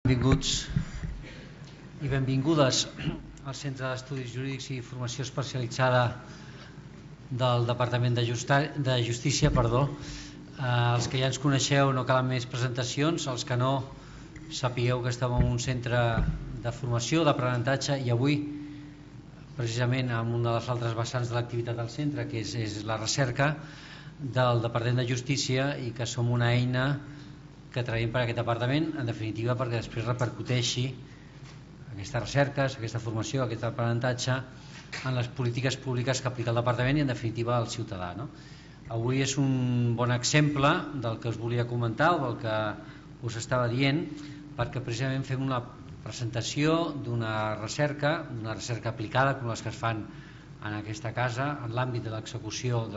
Benvinguts i benvingudes al Centre d'Estudis Jurídics i Formació Especialitzada del Departament de Justícia. Els que ja ens coneixeu no calen més presentacions, els que no sapigueu que estem en un centre de formació, d'aprenentatge, i avui precisament en una de les altres vessants de l'activitat del centre, que és la recerca del Departament de Justícia, i que som una eina que traiem per aquest departament, en definitiva perquè després repercuteixi aquestes recerques, aquesta formació, aquest aprenentatge en les polítiques públiques que aplica el departament i en definitiva al ciutadà, no? Avui és un bon exemple del que us volia comentar o del que us estava dient, perquè precisament fem una presentació d'una recerca aplicada com les que es fan en aquesta casa en l'àmbit de l'execució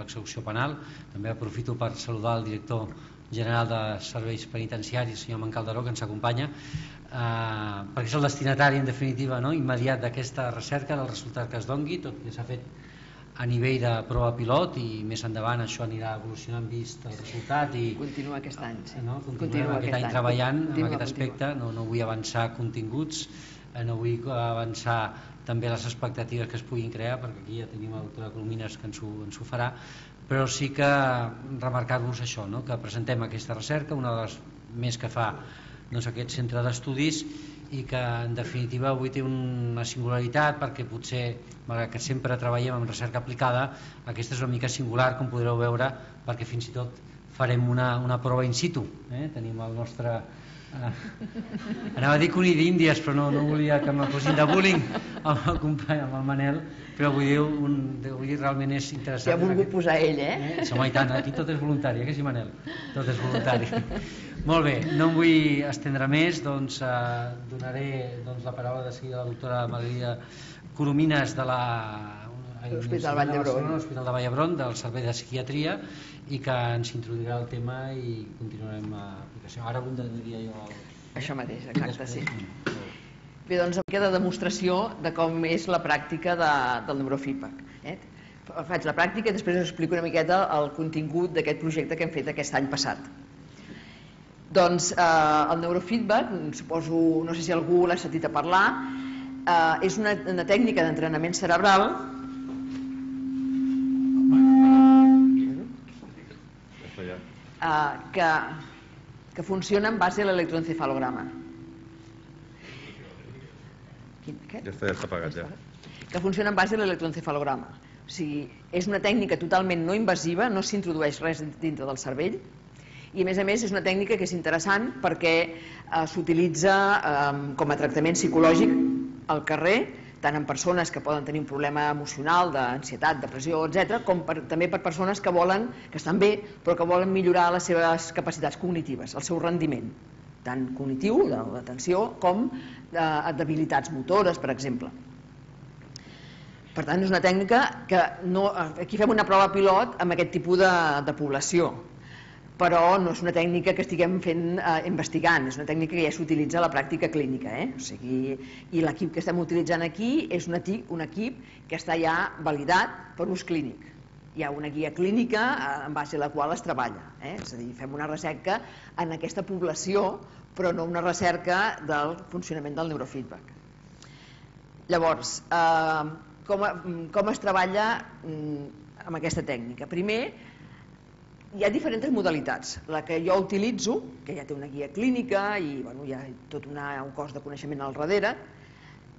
penal. També aprofito per saludar el director general de Serveis Penitenciaris, el senyor Calderó, que ens acompanya, perquè és el destinatari en definitiva immediat d'aquesta recerca, del resultat que es dongui, tot que s'ha fet a nivell de prova pilot i més endavant això anirà evolucionant vist el resultat i continua aquest any, sí. Continuem aquest any treballant en aquest aspecte. No vull avançar continguts, no vull avançar també les expectatives que es puguin crear, perquè aquí ja tenim la doctora Colomines que ens ho farà, però sí que remarcar-vos això, que presentem aquesta recerca, una de les més que fa aquest centre d'estudis, i que en definitiva avui té una singularitat perquè potser, malgrat que sempre treballem en recerca aplicada, aquesta és una mica singular, com podreu veure, perquè fins i tot farem una prova in situ. Tenim el nostre... Anava a dir conill d'Índies, però no volia que m'acosin de bullying amb el company, amb el Manel, però vull dir realment és interessant. S'hi ha volgut posar ell, Home, i tant, aquí tot és voluntari, que sí, Manel? Tot és voluntari. Molt bé, no em vull estendre més, donaré la paraula de seguida a la doctora Margarida Colomines de l'Hospital Vall d'Hebron, de Vall d'Hebron, del Servei de Psiquiatria, i que ens introduirà el tema i continuarem l'aplicació. Ara diria jo... Això mateix, exacte, sí. Bé, doncs, una mica de demostració de com és la pràctica del neurofeedback. Faig la pràctica i després us explico una miqueta el contingut d'aquest projecte que hem fet aquest any passat. Doncs el neurofeedback, suposo, no sé si algú l'ha sentit a parlar, és una tècnica d'entrenament cerebral que funciona en base a l'electroencefalograma. Ja està apagat, ja. Que funciona en base a l'electroencefalograma. O sigui, és una tècnica totalment no invasiva, no s'introdueix res dintre del cervell, i a més és una tècnica que és interessant perquè s'utilitza com a tractament psicològic al carrer, tant en persones que poden tenir un problema emocional, d'ansietat, depressió, etc., com també per persones que estan bé, però que volen millorar les seves capacitats cognitives, el seu rendiment, tant cognitiu, de l'atenció, com d'habilitats motores, per exemple. Per tant, és una tècnica que aquí fem una prova pilot amb aquest tipus de població, però no és una tècnica que estiguem investigant, és una tècnica que ja s'utilitza a la pràctica clínica. I l'equip que estem utilitzant aquí és un equip que està ja validat per ús clínic. Hi ha una guia clínica en base a la qual es treballa. És a dir, fem una recerca en aquesta població, però no una recerca del funcionament del neurofeedback. Llavors, com es treballa amb aquesta tècnica? Primer, hi ha diferents modalitats. La que jo utilitzo, que ja té una guia clínica i hi ha tot un cos de coneixement al darrere,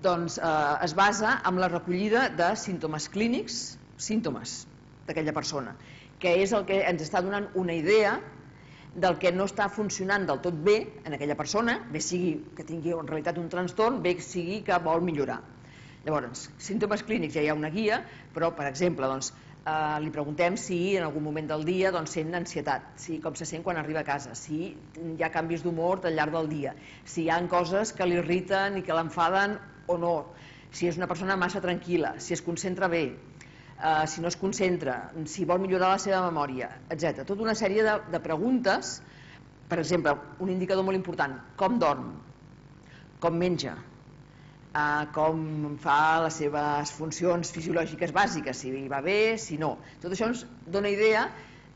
doncs es basa en la recollida de símptomes clínics, símptomes d'aquella persona, que és el que ens està donant una idea del que no està funcionant del tot bé en aquella persona, bé sigui que tingui en realitat un trastorn, bé sigui que vol millorar. Llavors, símptomes clínics ja hi ha una guia, però, per exemple, li preguntem si en algun moment del dia sent ansietat, com se sent quan arriba a casa, si hi ha canvis d'humor al llarg del dia, si hi ha coses que l'irriten i que l'enfaden o no, si és una persona massa tranquil·la, si es concentra bé, si no es concentra, si vol millorar la seva memòria, etc. Tota una sèrie de preguntes. Per exemple, un indicador molt important: com dorm, com menja, com fa les seves funcions fisiològiques bàsiques, si va bé, si no. Tot això ens dona idea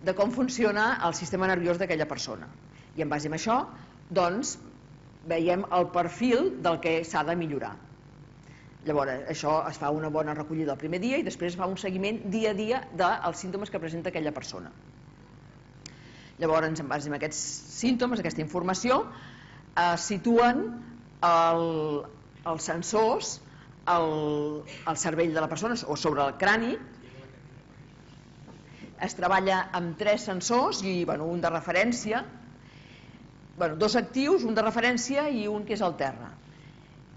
de com funciona el sistema nerviós d'aquella persona. I en base a això, doncs, veiem el perfil del que s'ha de millorar. Llavors, això es fa una bona recollida el primer dia i després es fa un seguiment dia a dia dels símptomes que presenta aquella persona. Llavors, en base a aquests símptomes, aquesta informació, es situen els sensors al cervell de la persona o sobre el crani. Es treballa amb 3 sensors i un de referència, 2 actius, un de referència i un que és el terra.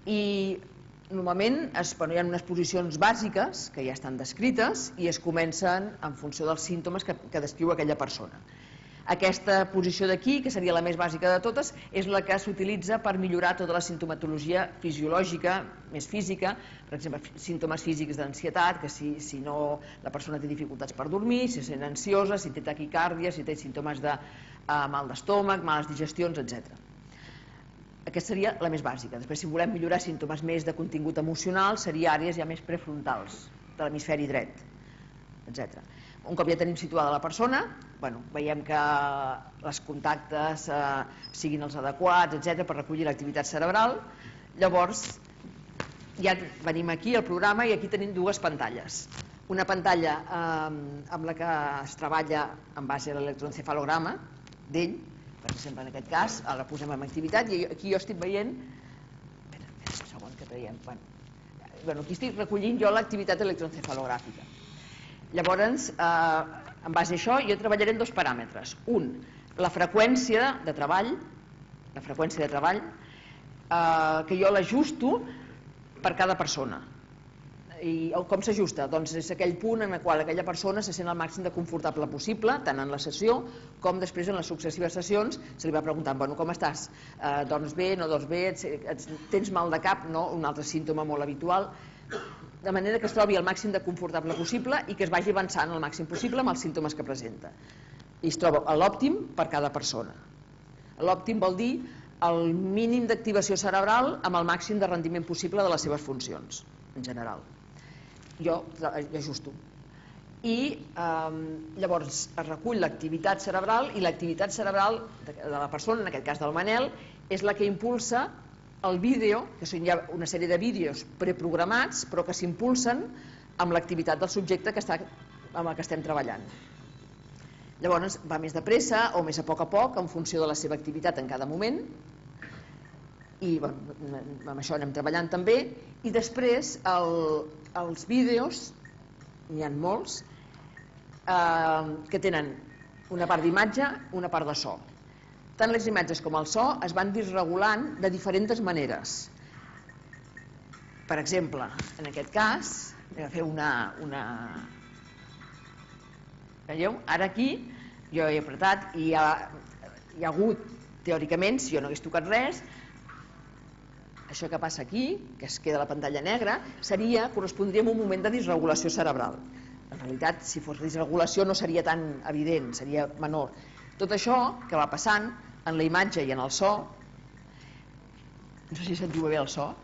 I normalment hi ha unes posicions bàsiques que ja estan descrites i es comencen en funció dels símptomes que descriu aquella persona. Aquesta posició d'aquí, que seria la més bàsica de totes, és la que s'utilitza per millorar tota la sintomatologia fisiològica, més física, per exemple, símptomes físics d'ansietat, que si no la persona té dificultats per dormir, si se sent ansiosa, si té taquicàrdia, si té símptomes de mal d'estómac, males digestions, etc. Aquesta seria la més bàsica. Després, si volem millorar símptomes més de contingut emocional, seria àrees ja més prefrontals, de l'hemisferi dret, etc. Un cop ja tenim situada la persona, veiem que els contactes siguin els adequats, etc., per recollir l'activitat cerebral. Llavors, ja venim aquí al programa i aquí tenim 2 pantalles. Una pantalla amb la que es treballa en base a l'electroencefalograma d'ell, per exemple, en aquest cas, la posem en activitat i aquí jo estic veient... Espera un segon que veiem. Aquí estic recollint jo l'activitat electroencefalogràfica. Llavors, en base a això, jo treballaré en 2 paràmetres. Un, la freqüència de treball, que jo l'ajusto per cada persona. I com s'ajusta? Doncs és aquell punt en el qual aquella persona se sent el màxim de confortable possible, tant en la sessió com després en les successives sessions. Se li va preguntant, com estàs? Dorms bé, no dorms bé? Tens mal de cap? No? Un altre símptoma molt habitual. De manera que es trobi el màxim de confortable possible i que es vagi avançant el màxim possible amb els símptomes que presenta. I es troba l'òptim per cada persona. L'òptim vol dir el mínim d'activació cerebral amb el màxim de rendiment possible de les seves funcions, en general. Jo ajusto. I llavors es recull l'activitat cerebral i l'activitat cerebral de la persona, en aquest cas del Manel, és la que impulsa el vídeo, que són ja una sèrie de vídeos preprogramats, però que s'impulsen amb l'activitat del subjecte amb el que estem treballant. Llavors va més de pressa o més a poc, en funció de la seva activitat en cada moment, i amb això anem treballant també. I després els vídeos, n'hi ha molts, que tenen una part d'imatge, una part de so. Tant les imatges com el so es van disregulant de diferents maneres. Per exemple, en aquest cas, anem a fer una... Veieu? Ara aquí jo he apretat i hi ha hagut, teòricament, si jo no hagués tocat res, això que passa aquí, que es queda la pantalla negra, correspondria a un moment de disregulació cerebral. En realitat, si fos disregulació no seria tan evident, seria menor. Tot això que va passant en la imatge i en el so, no sé si sentiu bé el so,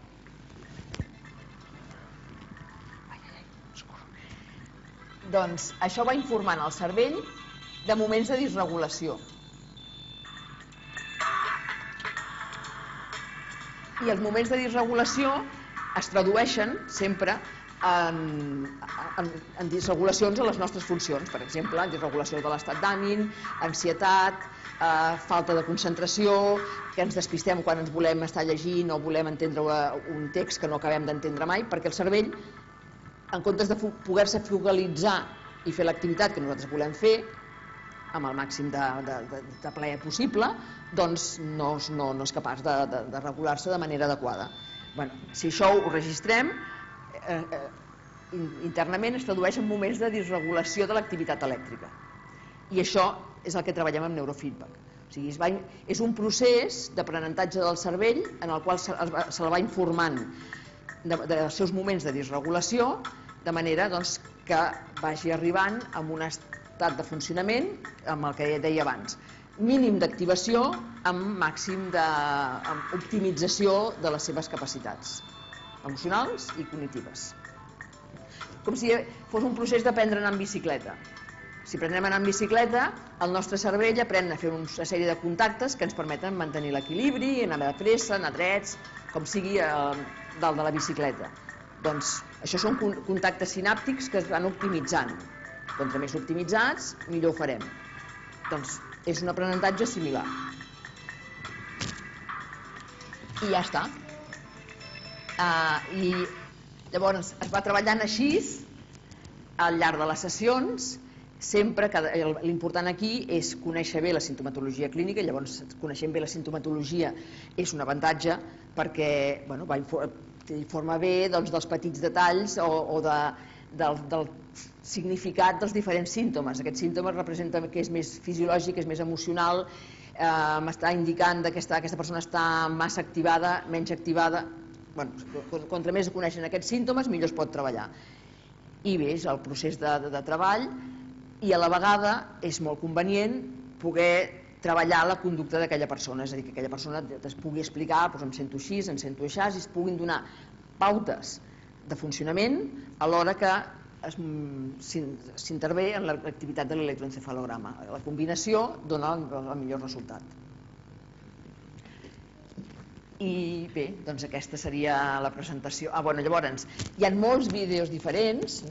doncs això va informant el cervell de moments de disregulació. I els moments de disregulació es tradueixen sempre en disregulacions a les nostres funcions, per exemple, en disregulació de l'estat d'ànim, ansietat, falta de concentració, que ens despistem quan ens volem estar llegint o volem entendre un text que no acabem d'entendre mai, perquè el cervell, en comptes de poder-se focalitzar i fer l'activitat que nosaltres volem fer, amb el màxim de plaer possible, doncs no és capaç de regular-se de manera adequada. Si això ho registrem, internament es tradueix en moments de disregulació de l'activitat elèctrica. I això és el que treballem amb neurofeedback. O sigui, és un procés d'aprenentatge del cervell en el qual se'l va informant dels seus moments de disregulació, de manera que vagi arribant a un estat de funcionament amb el que deia abans. Mínim d'activació amb màxim d'optimització de les seves capacitats emocionals i cognitives. Com si fos un procés d'aprendre a anar en bicicleta. Si prenem anar en bicicleta, el nostre cervell aprèn a fer una sèrie de contactes que ens permeten mantenir l'equilibri, anar de pressa, anar drets, com sigui dalt de la bicicleta. Doncs això són contactes sinàptics que es van optimitzant. Contra més optimitzats, millor ho farem. Doncs és un aprenentatge similar. I ja està. I llavors es va treballant així al llarg de les sessions. Sempre que l'important aquí és conèixer bé la sintomatologia clínica. Llavors, coneixent bé la sintomatologia és un avantatge perquè informa bé dels petits detalls o del significat dels diferents símptomes. Aquests símptomes representen que és més fisiològic, és més emocional, m'està indicant que aquesta persona està massa activada, menys activada. Contra més coneixen aquests símptomes, millor es pot treballar. I bé, és el procés de treball, i a la vegada és molt convenient poder treballar la conducta d'aquella persona, és a dir, que aquella persona es pugui explicar, em sento així, em sento així, i es puguin donar pautes de funcionament a l'hora que s'intervé en l'activitat de l'electroencefalograma. La combinació dona el millor resultat. I bé, doncs aquesta seria la presentació. Llavors, hi ha molts vídeos diferents.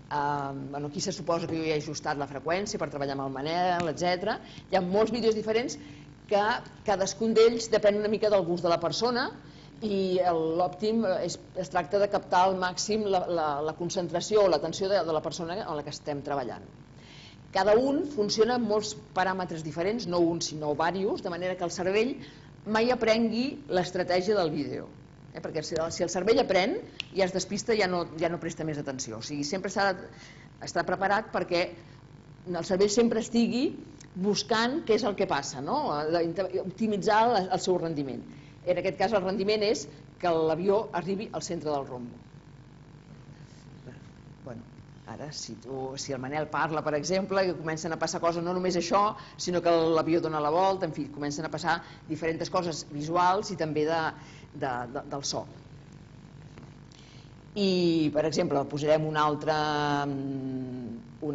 Aquí se suposa que jo ja he ajustat la freqüència per treballar amb el Manel, etc. Hi ha molts vídeos diferents que cadascun d'ells depèn una mica del gust de la persona i l'òptim es tracta de captar al màxim la concentració o l'atenció de la persona amb la que estem treballant. Cada un funciona amb molts paràmetres diferents, no un sinó diversos, de manera que el cervell mai aprengui l'estratègia del vídeo. Perquè si el cervell aprèn i es despista ja no presta més atenció. O sigui, sempre s'ha d'estar preparat perquè el cervell sempre estigui buscant què és el que passa, optimitzar el seu rendiment. En aquest cas el rendiment és que l'avió arribi al centre del rombo. Ara, si el Manel parla, per exemple, i comencen a passar coses, no només això, sinó que l'avió dona la volta, en fi, comencen a passar diferents coses visuals i també del so. I, per exemple, posarem un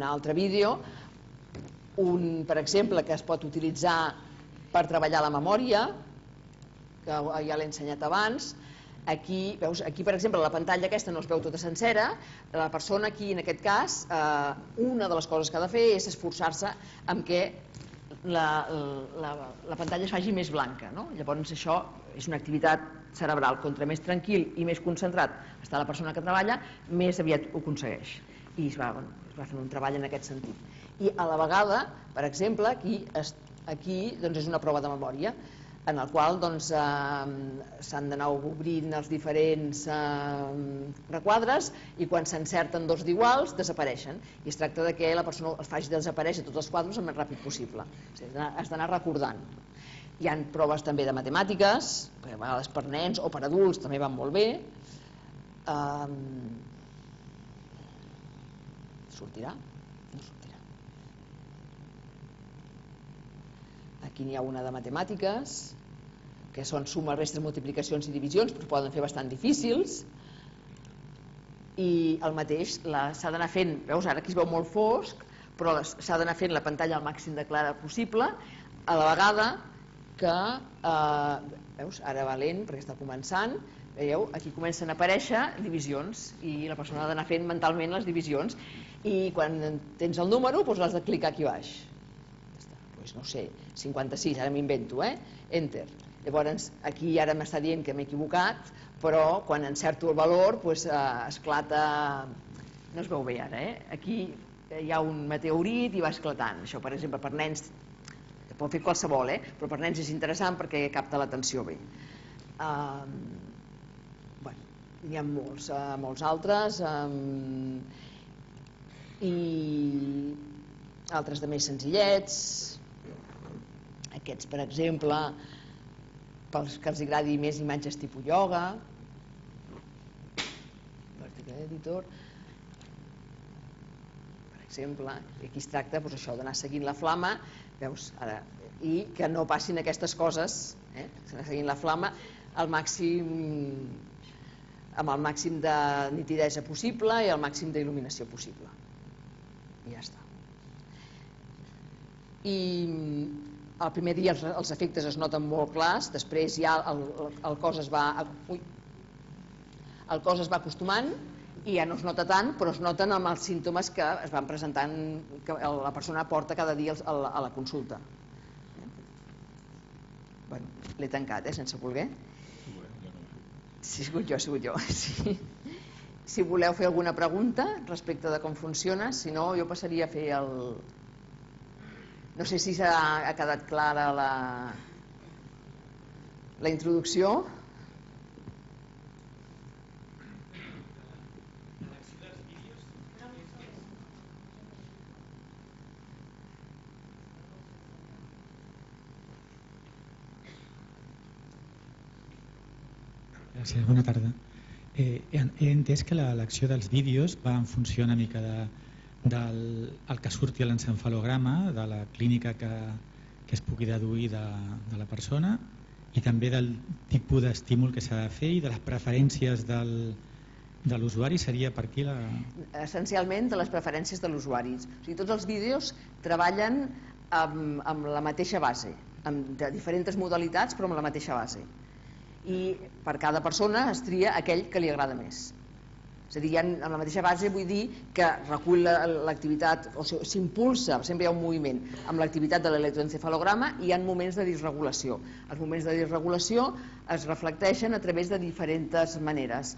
altre vídeo, per exemple, que es pot utilitzar per treballar la memòria, que ja l'he ensenyat abans. Aquí, per exemple, la pantalla aquesta no es veu tota sencera. La persona aquí, en aquest cas, una de les coses que ha de fer és esforçar-se en què la pantalla es faci més blanca. Llavors això és una activitat cerebral. Contra més tranquil i més concentrat està la persona que treballa, més aviat ho aconsegueix. I es va fent un treball en aquest sentit. I a la vegada, per exemple, aquí és una prova de memòria en el qual s'han d'anar obrint els diferents requadres i quan s'encerten dos d'iguals desapareixen i es tracta que la persona els faci desaparèixer tots els quadres el més ràpid possible. Has d'anar recordant. Hi ha proves també de matemàtiques, a vegades per nens o per adults també van molt bé. Sortirà? No sortirà. Aquí n'hi ha una de matemàtiques, que són sumes, restes, multiplicacions i divisions, però poden fer bastant difícils. I el mateix s'ha d'anar fent, veus, ara aquí es veu molt fosc, però s'ha d'anar fent la pantalla al màxim de clara possible, a la vegada que, veus, ara va lent perquè està començant, veieu, aquí comencen a aparèixer divisions i la persona ha d'anar fent mentalment les divisions i quan tens el número doncs l'has de clicar aquí baix. No sé, 56, ara m'invento, enter. Llavors aquí ara m'està dient que m'he equivocat, però quan encerto el valor esclata, no es veu bé ara, aquí hi ha un meteorit i va esclatant. Això, per exemple, per nens, pot fer qualsevol, però per nens és interessant perquè capta l'atenció bé. N'hi ha molts altres i altres de més senzillets. Aquests, per exemple, pels que els agradi més imatges tipus ioga. Vertical Editor. Per exemple, aquí es tracta d'anar seguint la flama, veus, ara, i que no passin aquestes coses, anar seguint la flama amb el màxim de nitidesa possible i el màxim d'il·luminació possible. I ja està. i el primer dia els efectes es noten molt clars, després ja el cos es va acostumant i ja no es nota tant, però es noten amb els símptomes que es van presentant, que la persona porta cada dia a la consulta. Bueno, l'he tancat, sense voler. Sí, he sigut jo. Sí. Si voleu fer alguna pregunta respecte de com funciona, si no, jo passaria a fer el... No sé si ha quedat clara la introducció. Gràcies, bona tarda. He entès que l'elecció dels vídeos va en funció una mica del que surti a l'encefalograma, de la clínica que es pugui deduir de la persona i també del tipus d'estímul que s'ha de fer i de les preferències de l'usuari. Seria per aquí la... Essencialment de les preferències de l'usuari. O sigui, tots els vídeos treballen amb la mateixa base, de diferents modalitats però amb la mateixa base. I per cada persona es tria aquell que li agrada més. És a dir, amb la mateixa base vull dir que recull l'activitat, o sigui, s'impulsa, sempre hi ha un moviment amb l'activitat de l'electroencefalograma i hi ha moments de disregulació. Els moments de disregulació es reflecteixen a través de diferents maneres.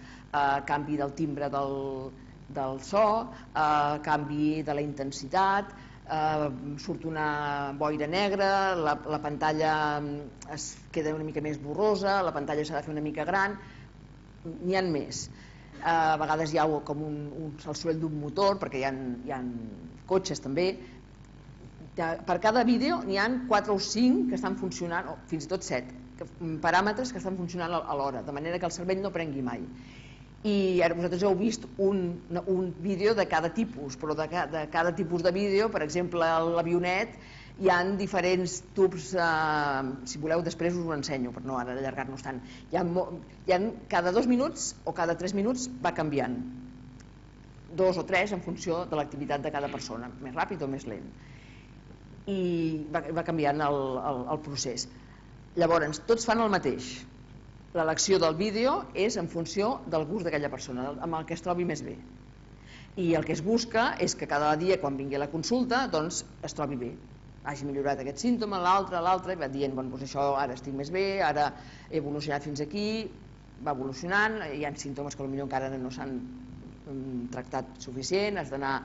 Canvi del timbre del so, canvi de la intensitat, surt una boira negra, la pantalla es queda una mica més borrosa, la pantalla s'ha de fer una mica gran, n'hi ha més. A vegades hi ha com el soroll d'un motor, perquè hi ha cotxes també. Per cada vídeo n'hi ha 4 o 5 que estan funcionant, o fins i tot 7 paràmetres que estan funcionant alhora, de manera que el cervell no prengui mai. I ara vosaltres heu vist un vídeo de cada tipus, però de cada tipus de vídeo, per exemple, a l'avionet hi ha diferents tubs, si voleu després us ho ensenyo, per no ara allargar-nos tant. Cada 2 minuts o cada 3 minuts va canviant, 2 o 3 en funció de l'activitat de cada persona, més ràpid o més lent. I va canviant el procés. Llavors, tots fan el mateix. L'elecció del vídeo és en funció del gust d'aquella persona, amb el que es trobi més bé. I el que es busca és que cada dia, quan vingui a la consulta, doncs es trobi bé. Hagi millorat aquest símptoma, l'altre, i va dient, doncs això ara estic més bé, ara he evolucionat fins aquí, va evolucionant, hi ha símptomes que potser encara no s'han tractat suficient, has d'anar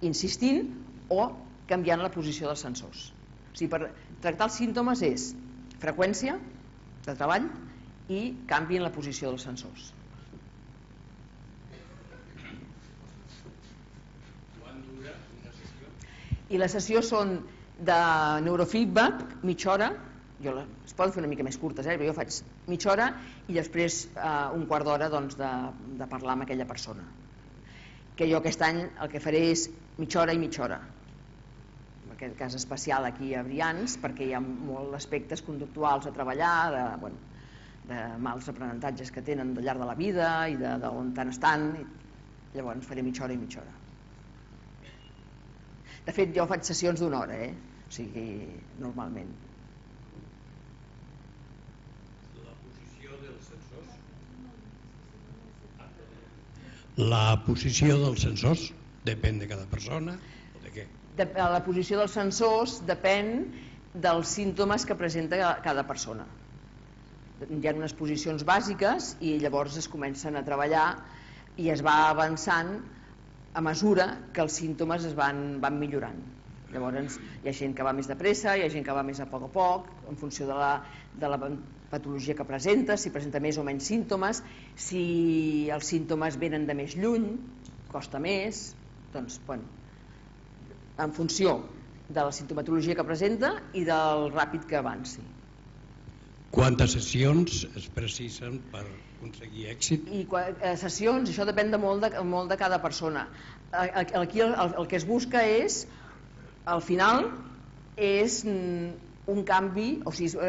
insistint o canviant la posició dels sensors. O sigui, per tractar els símptomes és freqüència de treball i canvi en la posició dels sensors. Quant dura una sessió? I la sessió són de neurofeedback, mitja hora, es poden fer una mica més curtes, però jo faig mitja hora i després un quart d'hora de parlar amb aquella persona. Que jo aquest any el que faré és mitja hora i mitja hora. En aquest cas especial aquí a Brians, perquè hi ha molts aspectes conductuals a treballar, de mals aprenentatges que tenen al llarg de la vida i d'on tant estan. Llavors faré mitja hora i mitja hora. De fet, jo faig sessions d'1 hora, o sigui, normalment. La posició dels sensors? La posició dels sensors depèn de cada persona o de què? La posició dels sensors depèn dels símptomes que presenta cada persona. Hi ha unes posicions bàsiques i llavors es comencen a treballar i es va avançant a mesura que els símptomes es van millorant. Llavors hi ha gent que va més de pressa, hi ha gent que va més a poc, en funció de la patologia que presenta, si presenta més o menys símptomes, si els símptomes venen de més lluny, costa més, doncs, en funció de la simptomatologia que presenta i del ràpid que avanci. Quantes sessions es precisen per aconseguir èxit? Sessions, això depèn molt de cada persona. Aquí el que es busca és, al final, és un canvi, o sigui,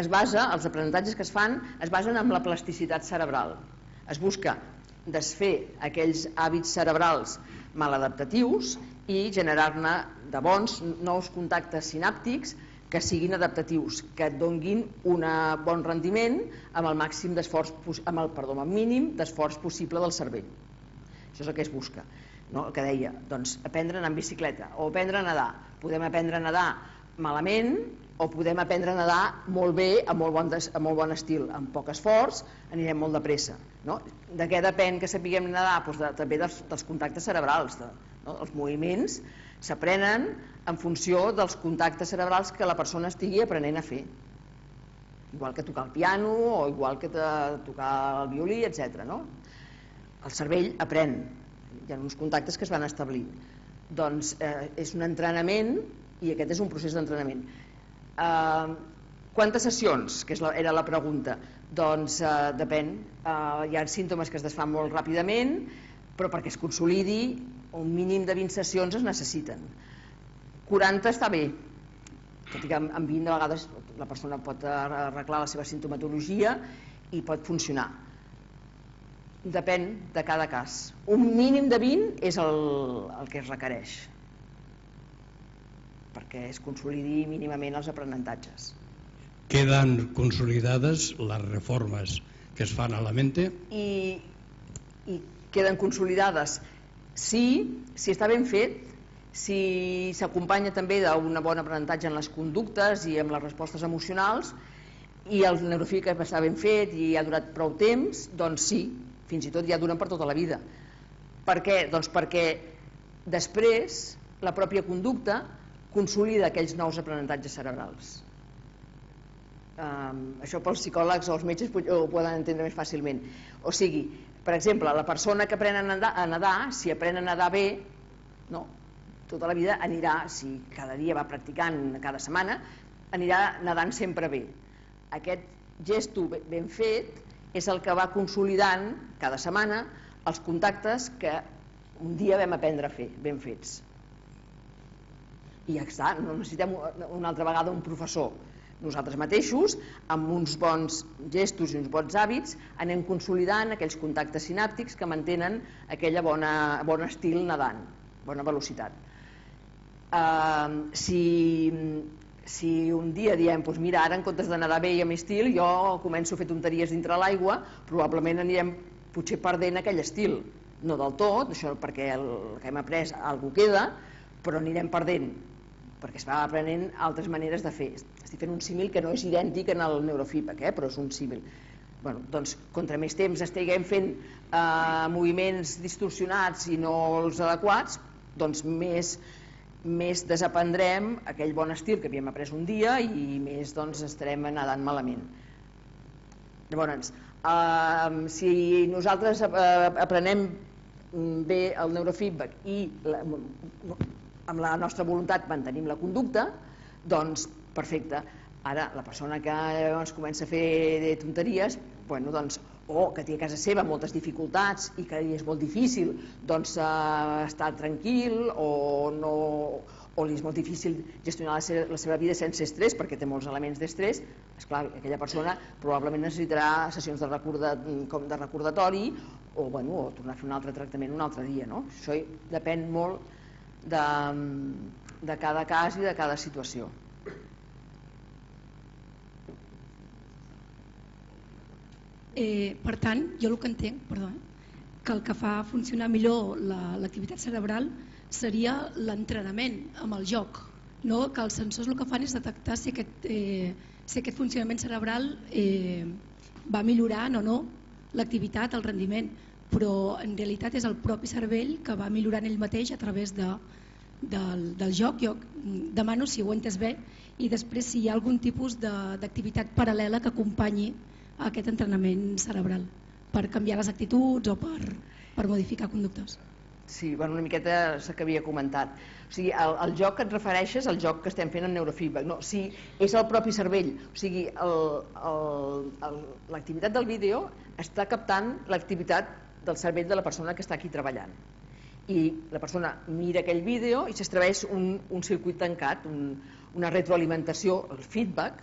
es basa, els aprenentatges que es fan es basen en la plasticitat cerebral. Es busca desfer aquells hàbits cerebrals maladaptatius i generar-ne de bons nous contactes sinàptics que siguin adaptatius, que et donguin un bon rendiment amb el màxim d'esforç, amb el mínim d'esforç possible del cervell. Això és el que es busca. El que deia, doncs aprendre a anar en bicicleta o aprendre a nedar. Podem aprendre a nedar malament o podem aprendre a nedar molt bé, amb molt bon estil, amb poc esforç, anirem molt de pressa. De què depèn que sapiguem nedar? També dels contactes cerebrals. Els moviments s'aprenen en funció dels contactes cerebrals que la persona estigui aprenent a fer. Igual que tocar el piano o igual que tocar el violí, etc. El cervell aprèn. Hi ha uns contactes que es van establir. Doncs és un entrenament i aquest és un procés d'entrenament. Quantes sessions? Que era la pregunta. Doncs depèn. Hi ha símptomes que es desfan molt ràpidament, però perquè es consolidi un mínim de 20 sessions es necessiten. 40 està bé, tot i que amb 20 a vegades la persona pot arreglar la seva sintomatologia i pot funcionar. Depèn de cada cas. Un mínim de 20 és el que es requereix perquè es consolidi mínimament els aprenentatges. Queden consolidades les reformes que es fan a la mente? I queden consolidades si està ben fet, si s'acompanya també d'un bon aprenentatge en les conductes i en les respostes emocionals i el neurofeedback està ben fet i ha durat prou temps, doncs sí, fins i tot ja duren per tota la vida. Per què? Doncs perquè després la pròpia conducta consolida aquells nous aprenentatges cerebrals. Això pels psicòlegs o els metges ho poden entendre més fàcilment. O sigui, per exemple, la persona que aprèn a nedar, si aprèn a nedar bé, tota la vida anirà, si cada dia va practicant, cada setmana, anirà nedant sempre bé. Aquest gesto ben fet és el que va consolidant cada setmana els contactes que un dia vam aprendre a fer, ben fets. I ja està, no necessitem una altra vegada un professor. Nosaltres mateixos, amb uns bons gestos i uns bons hàbits, anem consolidant aquells contactes sinàptics que mantenen aquella bon estil nedant, bona velocitat. Si un dia diem, mira, ara en comptes de nedar bé i amb estil, jo començo a fer tonteries dintre l'aigua, probablement anirem potser perdent aquell estil. No del tot, això perquè el que hem après alguna cosa queda, però anirem perdent, perquè es va aprenent altres maneres de fer. Estic fent un símil que no és idèntic en el neurofeedback, però és un símil. Doncs, contra més temps estiguem fent moviments distorsionats i no els adequats, doncs més desaprendrem aquell bon estil que havíem après un dia i més estarem nedant malament. Llavors, si nosaltres aprenem bé el neurofeedback i amb la nostra voluntat mantenim la conducta, doncs perfecte. Ara, la persona que comença a fer tonteries, o que té a casa seva moltes dificultats i que és molt difícil estar tranquil o li és molt difícil gestionar la seva vida sense estrès perquè té molts elements d'estrès, esclar, aquella persona probablement necessitarà sessions de recordatori o tornar a fer un altre tractament un altre dia. Això depèn molt de cada cas i de cada situació. Per tant, jo el que entenc, que el que fa funcionar millor l'activitat cerebral seria l'entrenament amb el joc, que els sensors el que fan és detectar si aquest funcionament cerebral va millorant o no l'activitat, el rendiment, però en realitat és el propi cervell que va millorant ell mateix a través del joc. Jo demano si ho he entès bé i després si hi ha algun tipus d'activitat paral·lela que acompanyi aquest entrenament cerebral per canviar les actituds o per modificar conductes. Sí, una miqueta és el que havia comentat. O sigui, el joc que et refereixes, el joc que estem fent en neurofeedback, no, sí, és el propi cervell. O sigui, l'activitat del vídeo està captant l'activitat del cervell de la persona que està aquí treballant. I la persona mira aquell vídeo i s'estableix un circuit tancat, una retroalimentació, el feedback,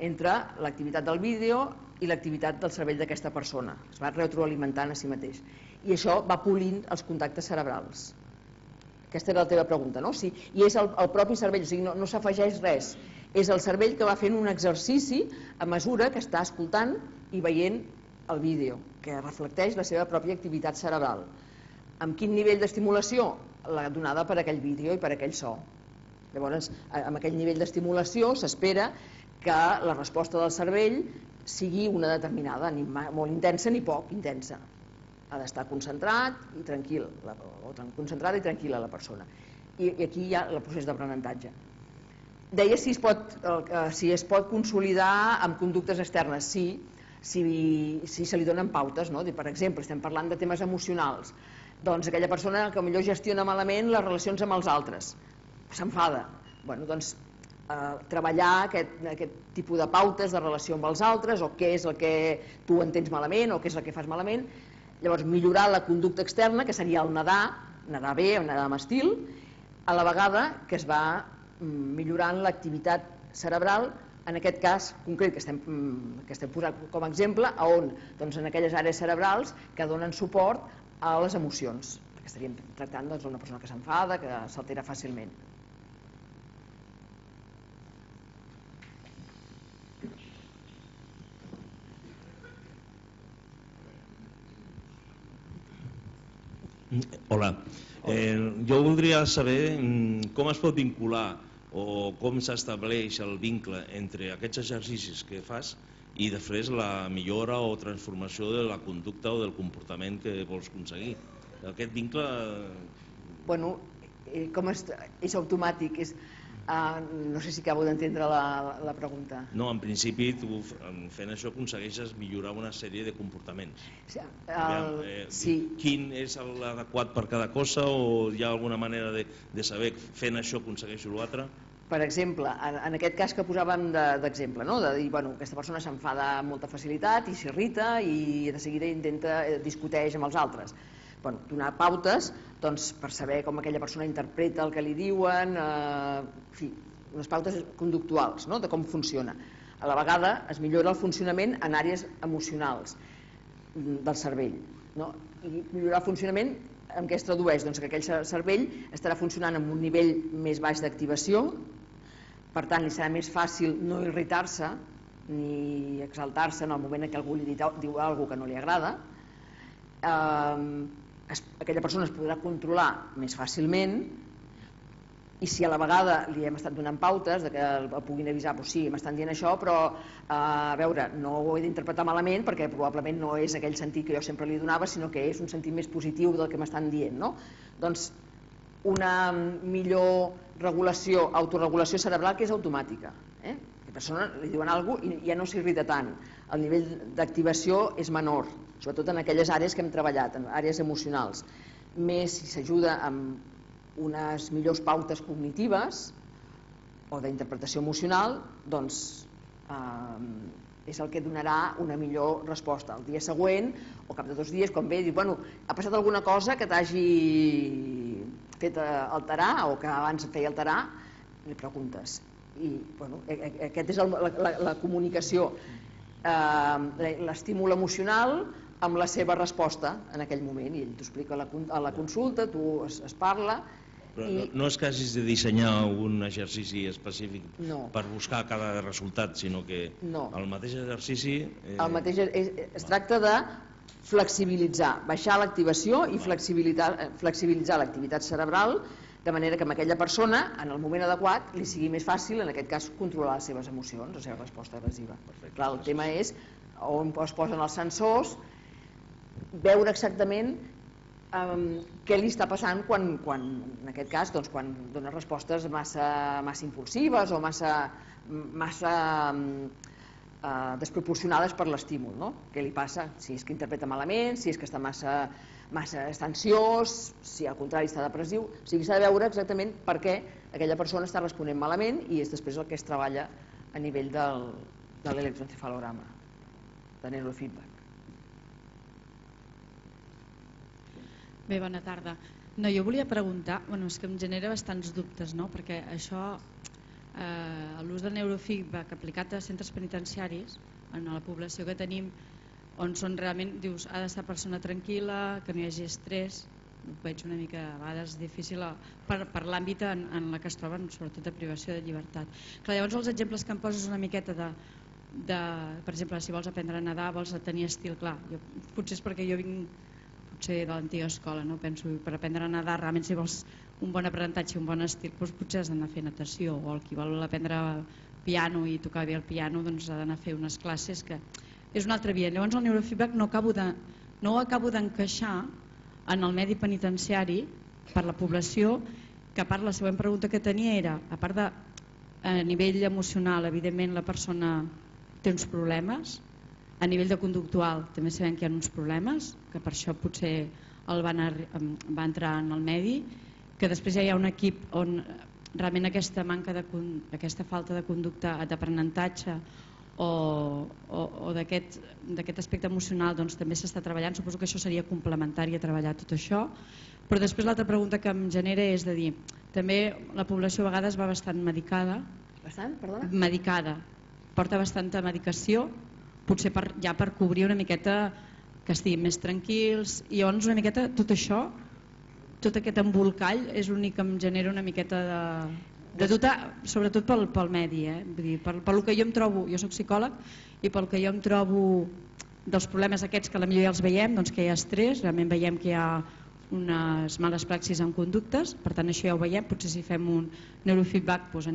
entre l'activitat del vídeo i l'activitat del cervell d'aquesta persona. Es va retroalimentant a si mateix. I això va polint els contactes cerebrals. Aquesta era la teva pregunta, no? I és el propi cervell, o sigui, no s'afegeix res. És el cervell que va fent un exercici a mesura que està escoltant i veient el vídeo, que reflecteix la seva pròpia activitat cerebral. Amb quin nivell d'estimulació? La donada per aquell vídeo i per aquell so. Llavors, amb aquell nivell d'estimulació s'espera que la resposta del cervell sigui una determinada, ni molt intensa ni poc intensa. Ha d'estar concentrat i tranquil, o concentrada i tranquil·la la persona. I aquí hi ha el procés d'aprenentatge. Deia si es pot consolidar amb conductes externes. Sí, si se li donen pautes, no? Per exemple, estem parlant de temes emocionals. Doncs aquella persona que potser gestiona malament les relacions amb els altres, s'enfada. Doncs treballar aquest tipus de pautes de relació amb els altres, o què és el que tu entens malament, o què és el que fas malament. Llavors, millorar la conducta externa, que seria el nedar bé, o nedar amb estil, a la vegada que es va millorant l'activitat cerebral, en aquest cas concret que estem posant com a exemple, on en aquelles àrees cerebrals que donen suport a les emocions, perquè estaríem tractant d'una persona que s'enfada, que s'altera fàcilment. Hola, jo voldria saber com es pot vincular o com s'estableix el vincle entre aquests exercicis que fas i després la millora o transformació de la conducta o del comportament que vols aconseguir. Aquest vincle... Bueno, és automàtic, no sé si acabo d'entendre la pregunta. No, en principi tu fent això aconsegueixes millorar una sèrie de comportaments. Sí. Quin és l'adequat per cada cosa o hi ha alguna manera de saber fent això aconsegueixo l'altre? Per exemple, en aquest cas que posàvem d'exemple, de dir, aquesta persona s'enfada amb molta facilitat i s'irrita i de seguida discuteix amb els altres. Donar pautes per saber com aquella persona interpreta el que li diuen, unes pautes conductuals de com funciona. A la vegada es millora el funcionament en àrees emocionals del cervell. I millorar el funcionament en què es tradueix? Que aquell cervell estarà funcionant amb un nivell més baix d'activació, per tant li serà més fàcil no irritar-se ni exaltar-se en el moment en què algú li diu alguna cosa que no li agrada. Aquella persona es podrà controlar més fàcilment i si a la vegada li hem estat donant pautes que el puguin avisar, sí, m'estan dient això, però a veure, no ho he d'interpretar malament perquè probablement no és aquell sentit que jo sempre li donava, sinó que és un sentit més positiu del que m'estan dient. Doncs una millor regulació, autorregulació cerebral que és automàtica. A la persona li diuen alguna cosa i ja no s'irrita tant. El nivell d'activació és menor, sobretot en aquelles àrees que hem treballat, en àrees emocionals. Més si s'ajuda amb unes millors pautes cognitives o d'interpretació emocional, doncs és el que donarà una millor resposta. El dia següent, o cap de 2 dies, quan ve, diu, ha passat alguna cosa que t'hagi fet alterar o que abans et feia alterar, li preguntes. I aquesta és la comunicació, l'estímul emocional amb la seva resposta en aquell moment, i ell t'ho explica a la consulta, tu es parla. Però no és que hagis de dissenyar un exercici específic per buscar cada resultat, sinó que el mateix exercici... Es tracta de flexibilitzar, baixar l'activació i flexibilitzar l'activitat cerebral de manera que a aquella persona, en el moment adequat, li sigui més fàcil, en aquest cas, controlar les seves emocions, la seva resposta agressiva. Clar, el tema és on es posen els sensors, veure exactament què li està passant quan, en aquest cas, quan dona respostes massa impulsives o massa desproporcionades per l'estímul. Què li passa? Si és que interpreta malament, si és que està massa ansiós, si al contrari està depressiu. O sigui, s'ha de veure exactament per què aquella persona està responent malament i és després el que es treballa a nivell de l'electroencefalograma, de neurofeedback. Bé, bona tarda. Jo volia preguntar, és que em genera bastants dubtes, perquè això, l'ús del neurofeedback aplicat a centres penitenciaris, en la població que tenim, on són realment, dius, ha d'estar persona tranquil·la, que no hi hagi estrès, ho veig una mica a vegades difícil per l'àmbit en la que es troben, sobretot de privació de llibertat. Clar, llavors els exemples que em poses una miqueta de per exemple, si vols aprendre a nedar, vols tenir estil, clar, potser és perquè jo vinc potser de l'antiga escola, no? Penso, per aprendre a nedar, realment si vols un bon aprenentatge i un bon estil, doncs potser has d'anar a fer natació, o el qui vol aprendre piano i tocar bé el piano, doncs ha d'anar a fer unes classes que és una altra via. Llavors el neurofeedback no ho acabo d'encaixar en el medi penitenciari per la població, que a part la següent pregunta que tenia era, a part de a nivell emocional, evidentment la persona té uns problemes, a nivell de conductual també sabem que hi ha uns problemes, que per això potser va entrar en el medi, que després ja hi ha un equip on realment aquesta falta de conducta d'aprenentatge o d'aquest aspecte emocional doncs també s'està treballant. Suposo que això seria complementari a treballar tot això, però després l'altra pregunta que em genera és de dir, també la població a vegades va bastant medicada, porta bastanta medicació, potser ja per cobrir una miqueta que estiguin més tranquils, i llavors una miqueta tot això, tot aquest embolcall és l'únic que em genera una miqueta de dubte, sobretot pel medi, vull dir, pel que jo em trobo, jo soc psicòleg, i pel que jo em trobo dels problemes aquests que potser ja els veiem, doncs que hi ha estrès, realment veiem que hi ha unes males praxis en conductes, per tant això ja ho veiem, potser si fem un neurofeedback doncs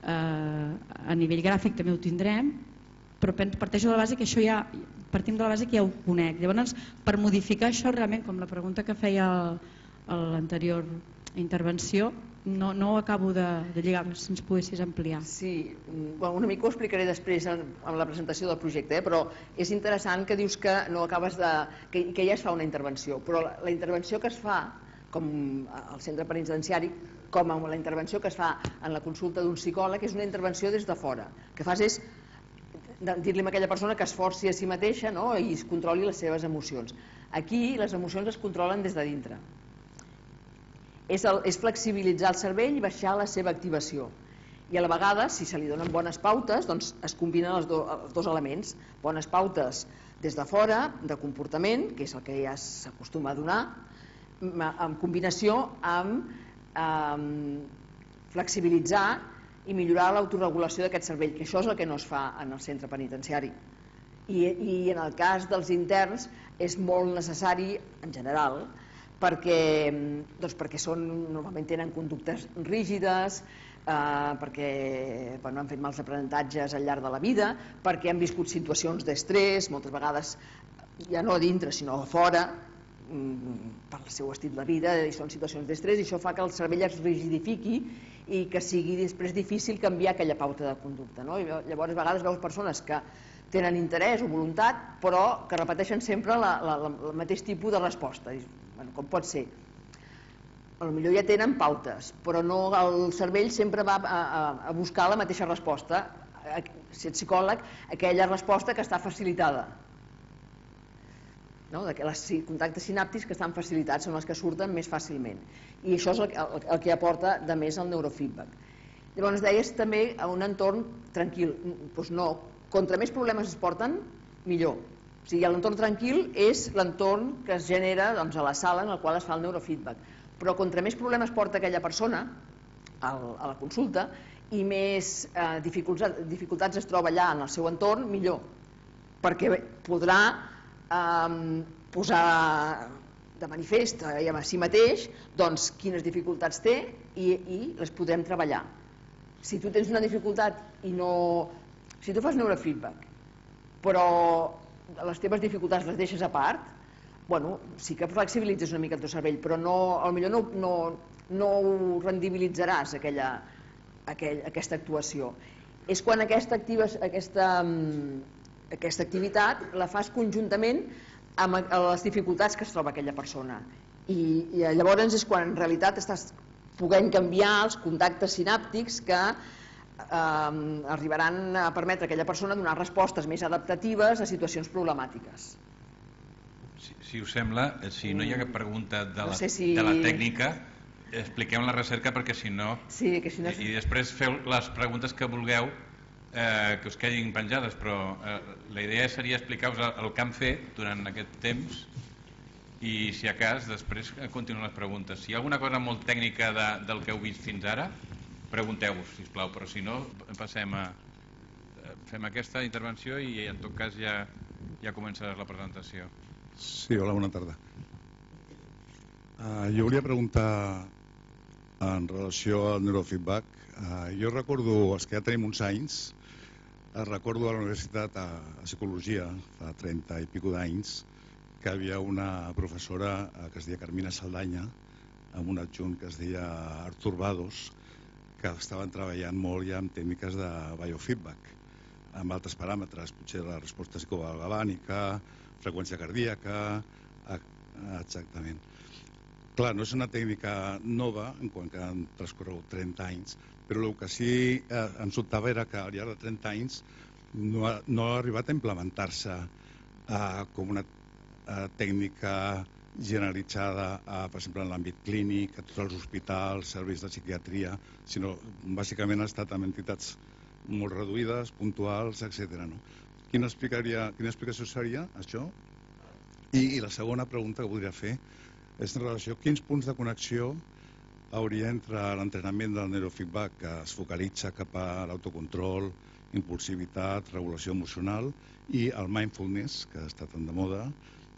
a nivell gràfic també ho tindrem, però parteixo de la base que això ja, partim de la base que ja ho conec. Llavors, per modificar això realment, com la pregunta que feia l'anterior intervenció, no ho acabo de lligar, si ens poguessis ampliar. Sí, una mica ho explicaré després en la presentació del projecte, però és interessant que dius que no acabes que ja es fa una intervenció, però la intervenció que es fa, com al centre penitenciari, com la intervenció que es fa en la consulta d'un psicòleg, és una intervenció des de fora. El que fas és dir-li a aquella persona que esforci a si mateixa i es controli les seves emocions. Aquí les emocions es controlen des de dintre. És flexibilitzar el cervell i baixar la seva activació. I a la vegada, si se li donen bones pautes, doncs es combinen els dos elements. Bones pautes des de fora, de comportament, que és el que ja s'acostuma a donar, en combinació amb flexibilitzar i millorar l'autoregulació d'aquest cervell, que això és el que no es fa en el centre penitenciari. I en el cas dels interns és molt necessari, en general, perquè normalment tenen conductes rígides, perquè han fet mals aprenentatges al llarg de la vida, perquè han viscut situacions d'estrès, moltes vegades ja no a dintre sinó a fora, per el seu estil de vida, i són situacions d'estrès, i això fa que el cervell es rigidifiqui i que sigui després difícil canviar aquella pauta de conducta. Llavors a vegades veus persones que tenen interès o voluntat, però que repeteixen sempre el mateix tipus de resposta. Com pot ser? Potser ja tenen pautes, però el cervell sempre va a buscar la mateixa resposta, si ets psicòleg, aquella resposta que està facilitada. Els contactes sinàptics que estan facilitats són els que surten més fàcilment, i això és el que aporta de més el neurofeedback. Llavors deies també a un entorn tranquil. Doncs no, contra més problemes es porten, millor. O sigui, l'entorn tranquil és l'entorn que es genera a la sala en la qual es fa el neurofeedback, però contra més problemes porta aquella persona a la consulta i més dificultats es troba allà en el seu entorn, millor, perquè podrà posar de manifest a si mateix quines dificultats té i les podrem treballar. Si tu tens una dificultat i no... Si tu fas neurofeedback però les teves dificultats les deixes a part, sí que flexibilitzes una mica el teu cervell, però potser no ho rendibilitzaràs aquesta actuació. És quan aquesta activitat la fas conjuntament amb les dificultats que es troba aquella persona, i llavors és quan en realitat estàs podent canviar els contactes sinàptics que arribaran a permetre a aquella persona donar respostes més adaptatives a situacions problemàtiques. Si us sembla, si no hi ha cap pregunta de la tècnica, expliquem la recerca, perquè si no... I després feu les preguntes que vulgueu que us quedin penjades, però la idea seria explicar-vos el que han fet durant aquest temps I si a cas, després continuen les preguntes. Si hi ha alguna cosa molt tècnica del que heu vist fins ara, pregunteu-vos, sisplau, però si no, fem aquesta intervenció i en tot cas ja començaràs la presentació. Sí, hola, bona tarda. Jo volia preguntar en relació al neurofeedback. Jo recordo, els que ja tenim uns anys, recordo a la universitat a Psicologia, fa 30 i pico d'anys, que hi havia una professora que es deia Carmina Saldanya, amb un adjunt que es deia Artur Bados, que estaven treballant molt ja amb tècniques de biofeedback, amb altres paràmetres, potser la resposta psicogalvànica, freqüència cardíaca, exactament. Clar, no és una tècnica nova, en quant que han transcorregut 30 anys, però el que sí em sobtava era que al llarg de 30 anys no ha arribat a implementar-se com una tècnica generalitzada, per exemple, en l'àmbit clínic, a tots els hospitals, serveis de psiquiatria, sinó bàsicament ha estat amb entitats molt reduïdes, puntuals, etc. Quina explicació seria això? I la segona pregunta que voldria fer és en relació a quins punts de connexió hauria entre l'entrenament del neurofeedback, que es focalitza cap a l'autocontrol, impulsivitat, regulació emocional, i el mindfulness, que ha estat tan de moda,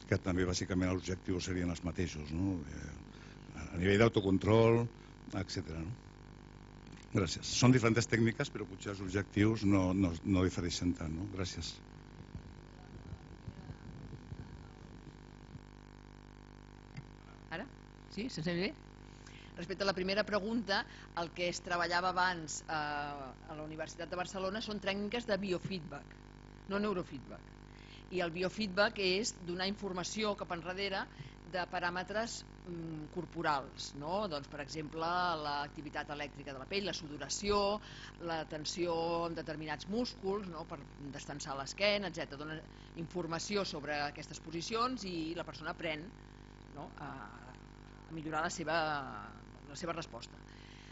que també bàsicament els objectius serien els mateixos, a nivell d'autocontrol, etc. Gràcies. Són diferents tècniques, però potser els objectius no difereixen tant. Gràcies. Ara? Sí? Se'ns sent bé? Respecte a la primera pregunta, el que es treballava abans a la Universitat de Barcelona són tècniques de biofeedback, no neurofeedback. I el biofeedback és donar informació cap enrere de paràmetres corporals, doncs, per exemple, l'activitat elèctrica de la pell, la sudoració, la tensió en determinats músculs, per destensar l'esquena, etc. Dona informació sobre aquestes posicions i la persona aprèn a millorar la seva resposta.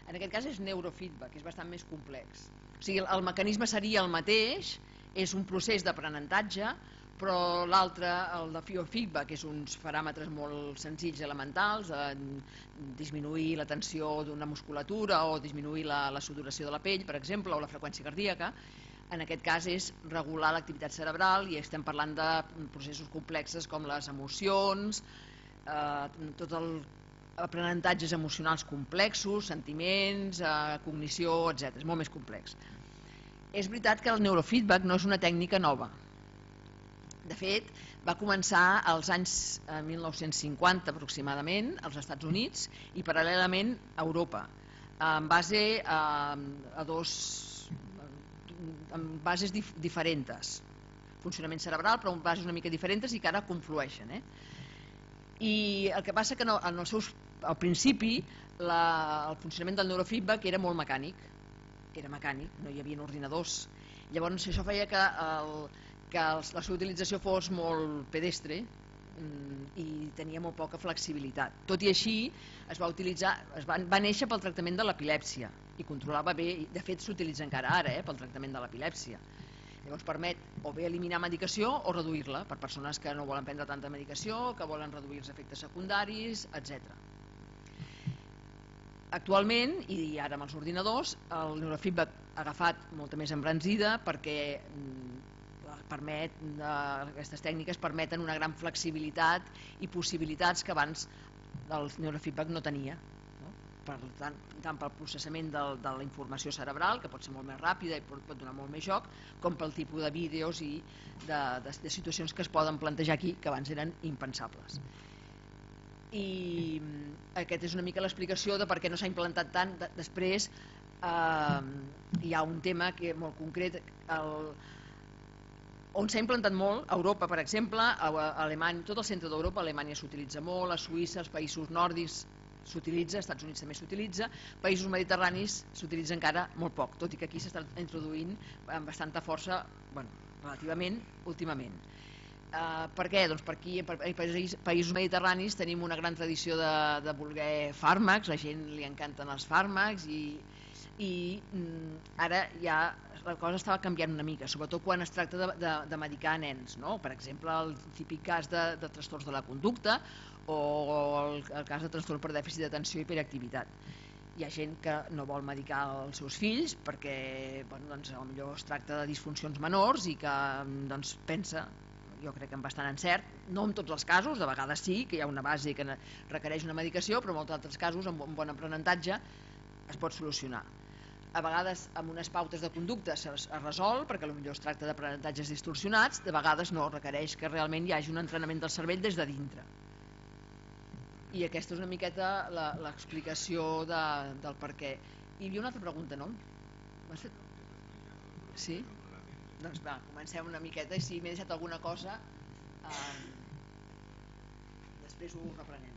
En aquest cas és neurofeedback, és bastant més complex. O sigui, el mecanisme seria el mateix, és un procés d'aprenentatge, però l'altre, el de biofeedback, és uns paràmetres molt senzills i elementals, disminuir la tensió d'una musculatura o disminuir la sudoració de la pell, per exemple, o la freqüència cardíaca. En aquest cas és regular l'activitat cerebral i estem parlant de processos complexos com les emocions, tots els aprenentatges emocionals complexos, sentiments, cognició, etc. És molt més complex. És veritat que el neurofeedback no és una tècnica nova. De fet, va començar als anys 1950 aproximadament als Estats Units i paral·lelament a Europa, en base a bases diferents, funcionament cerebral, però en bases una mica diferents i que ara conflueixen. I el que passa que al principi el funcionament del neurofeedback era molt mecànic, no hi havia ordinadors. Llavors això feia que la seva utilització fos molt pedestre i tenia molt poca flexibilitat. Tot i així va néixer pel tractament de l'epilèpsia i controlava bé, de fet s'utilitza encara ara pel tractament de l'epilèpsia. Llavors permet o bé eliminar medicació o reduir-la per persones que no volen prendre tanta medicació, que volen reduir els efectes secundaris, etc. Actualment, i ara amb els ordinadors, el neurofeedback ha agafat molta més embranzida perquè aquestes tècniques permeten una gran flexibilitat i possibilitats que abans el neurofeedback no tenia, tant pel processament de la informació cerebral, que pot ser molt més ràpida i pot donar molt més joc, com pel tipus de vídeos i de situacions que es poden plantejar aquí que abans eren impensables. I aquesta és una mica l'explicació de per què no s'ha implantat tant. Després hi ha un tema molt concret on s'ha implantat molt, a Europa, per exemple, a Alemanya, tot el centre d'Europa, a Alemanya s'utilitza molt, a Suïssa, als països nòrdics s'utilitza, als Estats Units també s'utilitza, països mediterranis s'utilitza encara molt poc, tot i que aquí s'està introduint amb bastanta força, relativament, últimament. Per què? Doncs perquè aquí, països mediterranis, tenim una gran tradició de voler fàrmacs, la gent li encanten els fàrmacs i ara ja la cosa estava canviant una mica, sobretot quan es tracta de medicar nens, no? Per exemple, el típic cas de trastorns de la conducta o el cas de trastorn per dèficit d'atenció i hiperactivitat. Hi ha gent que no vol medicar els seus fills perquè potser es tracta de disfuncions menors i que pensa, jo crec que amb bastant encert, no en tots els casos, de vegades sí, que hi ha una base que requereix una medicació, però en molts altres casos, amb un bon aprenentatge, es pot solucionar. A vegades amb unes pautes de conducta es resol, perquè potser es tracta d'aprenentatges distorsionats, de vegades no, requereix que realment hi hagi un entrenament del cervell des de dintre. I aquesta és una miqueta l'explicació del per què. Hi havia una altra pregunta, no? M'has fet? Sí? Doncs va, comencem una miqueta i si m'he deixat alguna cosa després ho reprenem.